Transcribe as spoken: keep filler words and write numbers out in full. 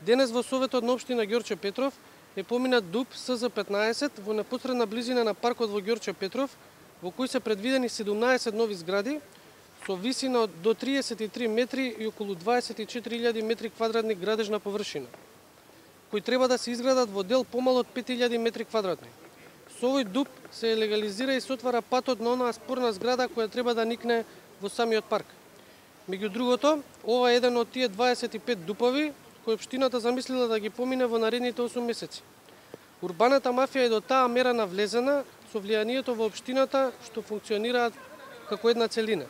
Денес во Советот на општина Ѓорче Петров е поминат ДУП С З петнаесет во непосредна близина на паркот во Ѓорче Петров, во кој се предвидени седумнаесет нови згради со висина до триесет и три метри и околу дваесет и четири илјади метри квадратни градежна површина, кои треба да се изградат во дел помало од пет илјади метри квадратни. Со овој ДУП се легализира и се отвара патот на онаа спорна зграда која треба да никне во самиот парк. Меѓу другото, ова е еден од тие дваесет и пет ДУПови кои општината замислила да ги помине во наредните осум месеци. Урбаната мафија е до таа мера навлезена со влијанието во општината што функционираат како една целина.